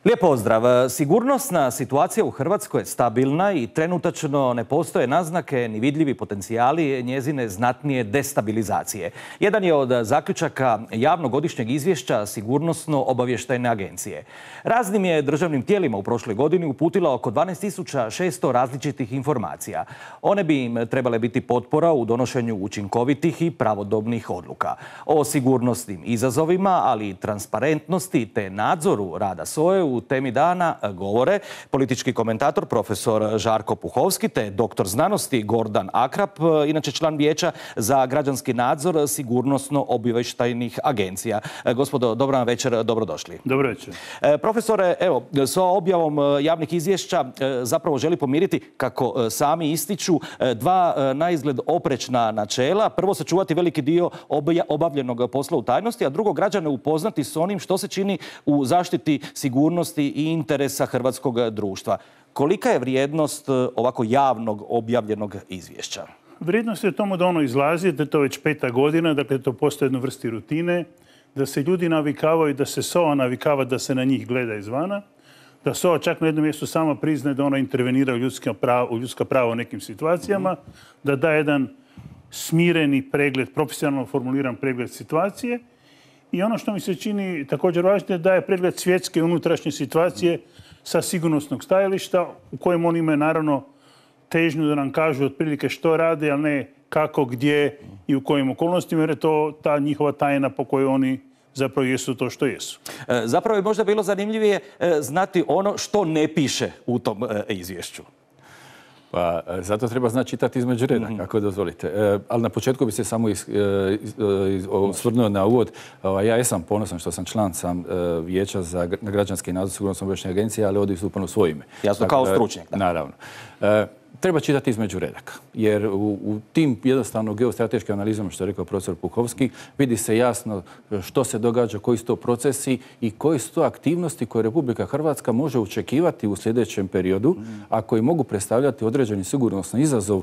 Lijep pozdrav. Sigurnosna situacija u Hrvatskoj je stabilna i trenutačno ne postoje naznake ni vidljivi potencijali njezine znatnije destabilizacije. Jedan je od zaključaka javnog godišnjeg izvješća Sigurnosno-obavještajne agencije. Raznim je državnim tijelima u prošloj godini uputila oko 12.600 različitih informacija. One bi im trebale biti potpora u donošenju učinkovitih i pravodobnih odluka. O sigurnosnim izazovima, ali i transparentnosti te nadzoru rada SOA-e u temi dana govore politički komentator profesor Žarko Puhovski te doktor znanosti Gordan Akrap, inače član Vijeća za građanski nadzor sigurnosno-obavještajnih agencija. Gospodo, dobra vam večer, dobrodošli. Dobro večer. Profesore, evo, s objavom javnih izvješća zapravo želi pomiriti, kako sami ističu, dva naizgled oprečna načela. Prvo, sačuvati veliki dio obavljenog posla u tajnosti, a drugo, građane upoznati s onim što se čini u zaštiti sigurnosti i interesa hrvatskog društva. Kolika je vrijednost ovako javnog objavljenog izvješća? Vrijednost je tomu da ono izlazi, da je to već 5. godina, dakle to postoje jednu vrsti rutine, da se ljudi navikavaju, da se SOA navikava da se na njih gleda izvana, da SOA čak na jednom mjestu sama priznaje da ona intervenira u ljudska prava u nekim situacijama, da da jedan smireni pregled, profesionalno formuliran pregled situacije. I ono što mi se čini također važno je da je pregled svjetske unutrašnje situacije sa sigurnosnog stajališta u kojem oni imaju naravno težnju da nam kažu otprilike što rade, ali ne kako, gdje i u kojim okolnostima, jer je to ta njihova tajna po kojoj oni zapravo jesu to što jesu. Zapravo je možda bilo zanimljivije znati ono što ne piše u tom izvješću. Pa zato treba znati čitati između redaka, ako dozvolite. Ali na početku bi se samo osvrnuo na uvod. Ja jesam ponosan što sam član Vijeća za građanski nadzor sigurnosno-obavještajne agencije, ali ovdje istupam u svoje ime. Jasno, kao stručnjak. Naravno. Treba čitati između redaka, jer u tim jednostavno geostrateškim analizama, što je rekao profesor Puhovski, vidi se jasno što se događa, koji su to procesi i koje su to aktivnosti koje Republika Hrvatska može očekivati u sljedećem periodu, a koji mogu predstavljati određeni sigurnosni izazov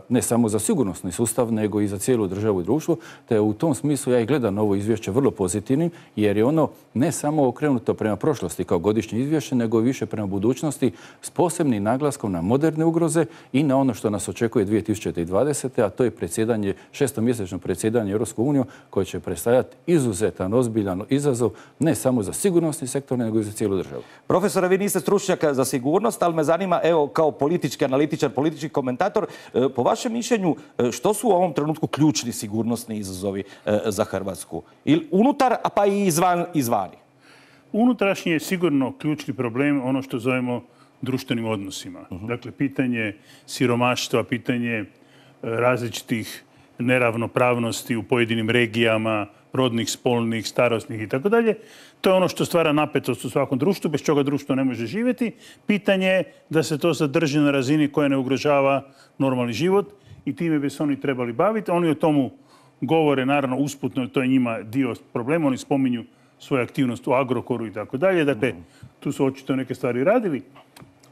ne samo za sigurnosni sustav, nego i za cijelu državu i društvo. Te u tom smislu ja i gledam ovo izvješće vrlo pozitivnim, jer je ono ne samo okrenuto prema prošlosti kao godišnje izvješće, nego i više prema budućnosti s posebnim naglaskom na moderne ugroze i na ono što nas očekuje 2020. a to je predsjedanje, 6-mjesečno predsjedanje Europskom unijom koje će predstavljati izuzetan, ozbiljan izazov ne samo za sigurnosni sektor, nego i za cijelu državu. Profesore, vi niste stručnjak za sigurnost, ali me zanima, evo, kao politički analitičar, politički komentator, po vašem mišljenju, što su u ovom trenutku ključni sigurnosni izazovi za Hrvatsku? Ili unutar, a pa i izvani? Unutrašnji je sigurno ključni problem ono što zovemo društvenim odnosima. Dakle, pitanje siromaštva, pitanje različitih neravnopravnosti u pojedinim regijama, rodnih, spolnih, starosnih itd. To je ono što stvara napetost u svakom društvu, bez čega društvo ne može živjeti. Pitanje je da se to zadrži na razini koja ne ugrožava normalni život i time bi se oni trebali baviti. Oni o tomu govore, naravno, usputno, to je njima dio problema. Oni spominju svoju aktivnost u Agrokoru i tako dalje. Dakle, tu su očito neke stvari radili.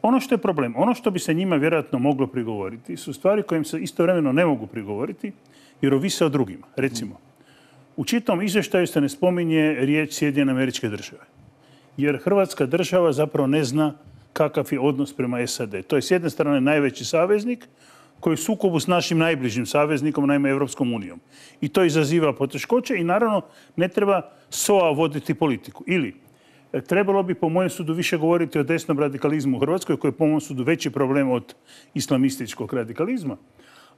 Ono što je problem, ono što bi se njima vjerojatno moglo prigovoriti su stvari kojim se istovremeno ne mogu prigovoriti jer ovise o drugima. Recimo, u čitavom izvještaju se ne spominje riječ Sjedinjene Američke Države. Jer Hrvatska država zapravo ne zna kakav je odnos prema SAD. To je s jedne strane najveći saveznik koji je u sukobu s našim najbližim saveznikom, naime Europskom unijom. I to izaziva poteškoće i naravno ne treba SOA voditi politiku. Ili trebalo bi, po mojem sudu, više govoriti o desnom radikalizmu u Hrvatskoj, koji je, po mojem sudu, veći problem od islamističkog radikalizma.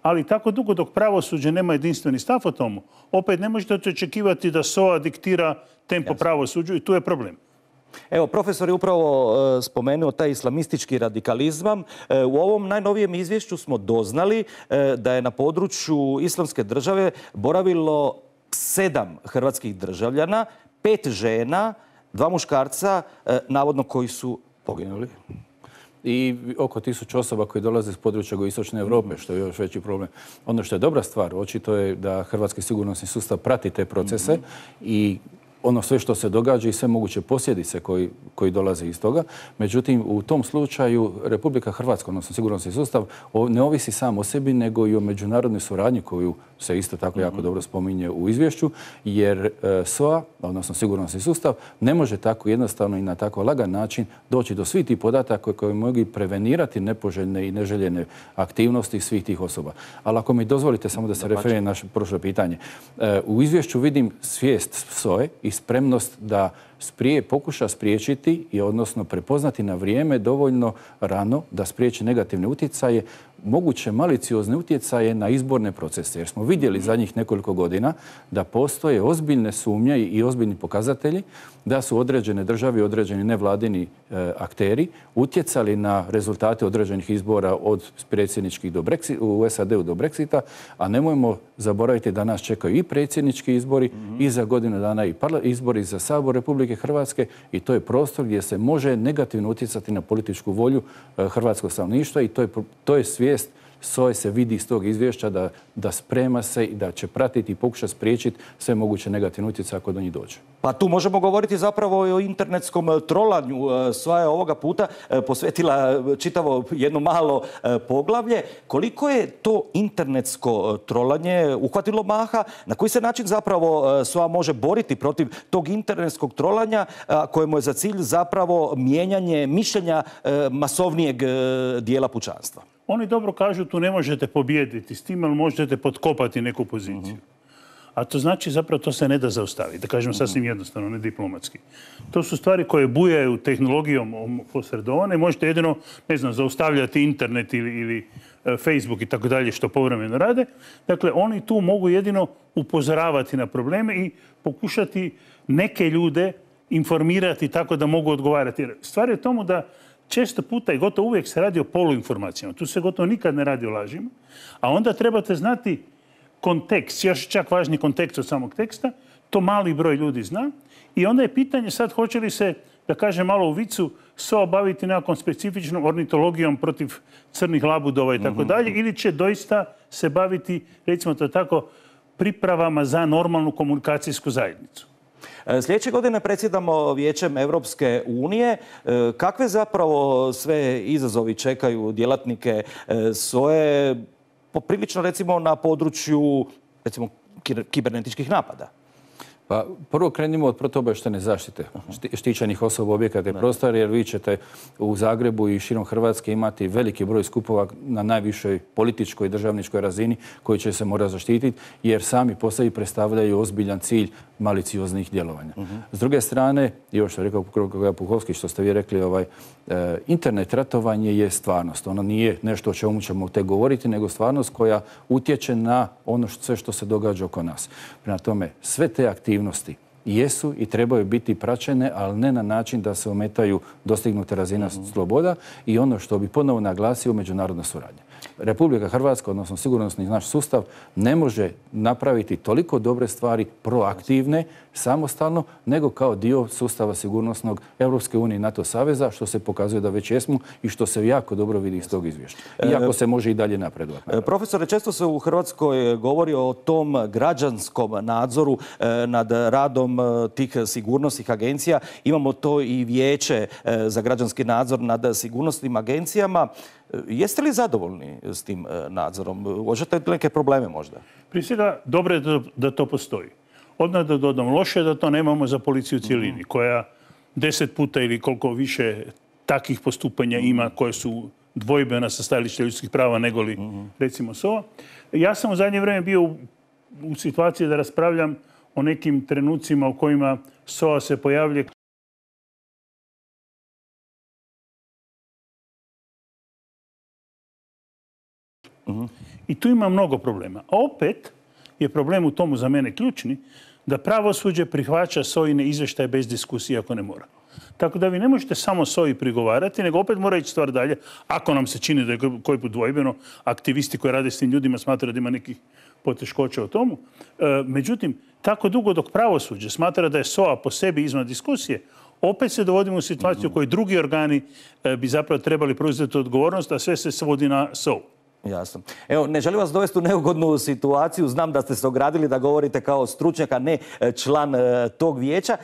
Ali tako dugo dok pravosuđe nema jedinstveni stav o tomu, opet ne možete očekivati da SOA diktira tempo pravosuđu i tu je problem. Evo, profesor je upravo spomenuo taj islamistički radikalizam. U ovom najnovijem izvješću smo doznali da je na području Islamske države boravilo 7 hrvatskih državljana, 5 žena, 2 muškarca, navodno koji su poginuli. I oko 1000 osoba koji dolaze iz područja jugoistočne Europe, što je još veći problem. Ono što je dobra stvar, očito je da hrvatski sigurnosni sustav prati te procese i ono sve što se događa i sve moguće posljedice koji dolaze iz toga. Međutim, u tom slučaju Republika Hrvatska, odnosno sigurnosni sustav, ne ovisi sam o sebi, nego i o međunarodnoj suradnji koju se isto tako jako dobro spominje u izvješću, jer SOA, odnosno sigurnosni sustav, ne može tako jednostavno i na tako lagan način doći do svih tih podataka koji mogu prevenirati nepoželjne i neželjene aktivnosti svih tih osoba. Ali ako mi dozvolite samo da se referiram na naše prošlo pitanje. U izvješću vidim svijest SOA-e i spremnost da pokuša spriječiti i odnosno prepoznati na vrijeme dovoljno rano da spriječi negativne utjecaje, moguće maliciozne utjecaje na izborne procese. Jer smo vidjeli zadnjih nekoliko godina da postoje ozbiljne sumnje i ozbiljni pokazatelji da su određene države i određeni nevladini akteri utjecali na rezultate određenih izbora od predsjedničkih u SAD-u do Brexita, a nemojmo zaboraviti da nas čekaju i predsjednički izbori i za godinu dana i izbori za Sabor Republike Hrvatske i to je prostor gdje se može negativno utjecati na političku volju hrvatskog stanovništva i to je svijest SOA-e se vidi iz tog izvješća da sprema se i da će pratiti i pokuša spriječiti sve moguće negativne utjecaje ako do njih dođe. Pa tu možemo govoriti zapravo i o internetskom trolanju. SOA je ovoga puta posvetila čitavo jedno malo poglavlje. Koliko je to internetsko trolanje uhvatilo maha? Na koji se način zapravo SOA može boriti protiv tog internetskog trolanja kojemu je za cilj zapravo mijenjanje mišljenja masovnijeg dijela pučanstva? Oni dobro kažu tu ne možete pobijediti s tim, ali možete potkopati neku poziciju. A to znači zapravo to se ne da zaustaviti. Da kažem sasvim jednostavno, ne diplomatski. To su stvari koje bujaju tehnologijom posredovane. Možete jedino, ne znam, zaustavljati internet ili Facebook i tako dalje što povremeno rade. Dakle, oni tu mogu jedino upozoravati na probleme i pokušati neke ljude informirati tako da mogu odgovarati. Jer stvar je tomu da često puta i gotovo uvijek se radi o poluinformacijama. Tu se gotovo nikad ne radi o lažima. A onda trebate znati kontekst, još čak važniji kontekst od samog teksta. To mali broj ljudi zna. I onda je pitanje sad hoće li se, da kažem malo u vicu, SOA baviti nekakvom specifičnom ornitologijom protiv crnih labudova i tako dalje, ili će doista se baviti, recimo to tako, pripravama za normalnu komunikacijsku zajednicu. Sljedeće godine predsjedamo Vijećem Europske unije. Kakve zapravo sve izazovi čekaju djelatnike SOA-e, poprilično recimo na području recimo kibernetičkih napada? Pa prvo krenimo od protuobavještajne zaštite štićenih osoba, objekata i prostora, jer vi ćete u Zagrebu i širom Hrvatske imati veliki broj skupova na najvišoj političkoj i državničkoj razini koji će se morati zaštititi, jer sami po sebi predstavljaju ozbiljan cilj malicioznih djelovanja. S druge strane, i ovo što je rekao kolega Puhovski, što ste vi rekli, internet ratovanje je stvarnost. Ono nije nešto o čemu ćemo tek govoriti, nego stvarnost koja utječe na ono sve što se događa oko nas. Prema tome, sve te aktivnosti jesu i trebaju biti praćene, ali ne na način da se ometaju dostignute razine sloboda i ono što bi ponovo naglasio, međunarodna suradnja. Republika Hrvatska, odnosno sigurnosni naš sustav, ne može napraviti toliko dobre stvari proaktivne, samostalno, nego kao dio sustava sigurnosnog Europske unije i NATO saveza, što se pokazuje da već jesmo i što se jako dobro vidi iz tog izvješća. Iako se može i dalje napredovati. Profesore, često se u Hrvatskoj govori o tom građanskom nadzoru nad radom tih sigurnosnih agencija. Imamo to i Vijeće za građanski nadzor nad sigurnosnim agencijama. Jeste li zadovoljni s tim nadzorom? Uočavate li neke probleme možda? Prije svega, dobro je da to postoji. Odmah da dodam, loše je da to nemamo za policiju u cijelini, koja 10 puta ili koliko više takvih postupanja ima koje su dvojbena sa stajališta ljudskih prava nego li, recimo, SOA. Ja sam u zadnje vrijeme bio u situaciji da raspravljam o nekim trenucima u kojima SOA se pojavlja i tu ima mnogo problema. A opet je problem u tomu za mene ključni da pravosuđe prihvaća SOA-ine izvještaje bez diskusije ako ne mora. Tako da vi ne možete samo SOA-i prigovarati, nego opet mora ići stvar dalje. Ako nam se čini da je koji put dvojbeno, aktivisti koji rade s tim ljudima smatraju da ima nekih poteškoća o tomu. Međutim, tako dugo dok pravosuđe smatra da je SOA po sebi izvan diskusije, opet se dovodimo u situaciju u kojoj drugi organi bi zapravo trebali preuzeti odgovornost, a sve se svodi na SOA. Jasno. Evo, ne želim vas dovesti u neugodnu situaciju. Znam da ste se ogradili da govorite kao stručnjak, a ne član tog vijeća.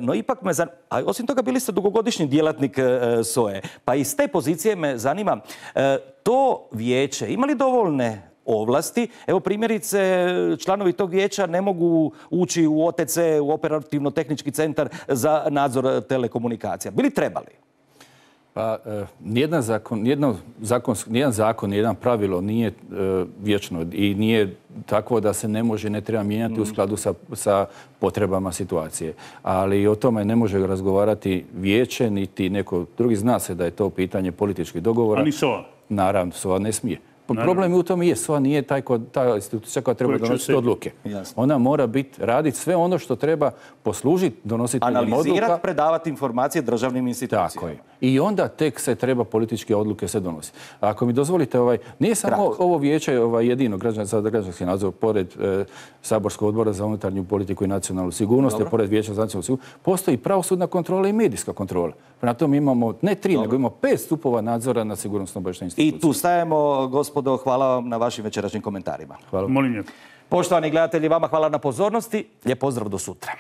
No ipak me zanima, a osim toga bili ste dugogodišnji djelatnik SOA-e. Pa iz te pozicije me zanima, to vijeće ima li dovoljne ovlasti? Evo primjerice, članovi tog vijeća ne mogu ući u OTC, u operativno-tehnički centar za nadzor telekomunikacija. Bili trebali? Pa nijedan zakon, nijedan pravilo nije vječno i nije takvo da se ne može, ne treba mijenjati u skladu sa potrebama situacije. Ali o tome ne može razgovarati vijeće, niti neko drugi. Zna se da je to pitanje političkih dogovora. A ni SOA? Naravno, SOA ne smije. Problem je u tome je, SOA nije ta institucija koja treba donositi odluke. Ona mora raditi sve ono što treba poslužiti donositeljima odluka. Analizirati, predavati informacije državnim institucijama. Tako je. I onda tek se treba političke odluke se donositi. Ako mi dozvolite, nije samo ovo vijeće jedino za građanski nadzor, pored Saborskog odbora za unutarnju politiku i nacionalnu sigurnost, pored vijeća za nacionalnu sigurnost, postoji pravosudna kontrola i medijska kontrola. Prema tome imamo ne 3, nego imamo 5 stupova nadzora na sigurnosno-obavještajnim institucijama. I tu stajemo, gospodo, hvala vam na vašim večerašnjim komentarima. Hvala. Molim. Poštovani gledatelji, vama hvala na pozornosti. Lijep pozdrav do sutra.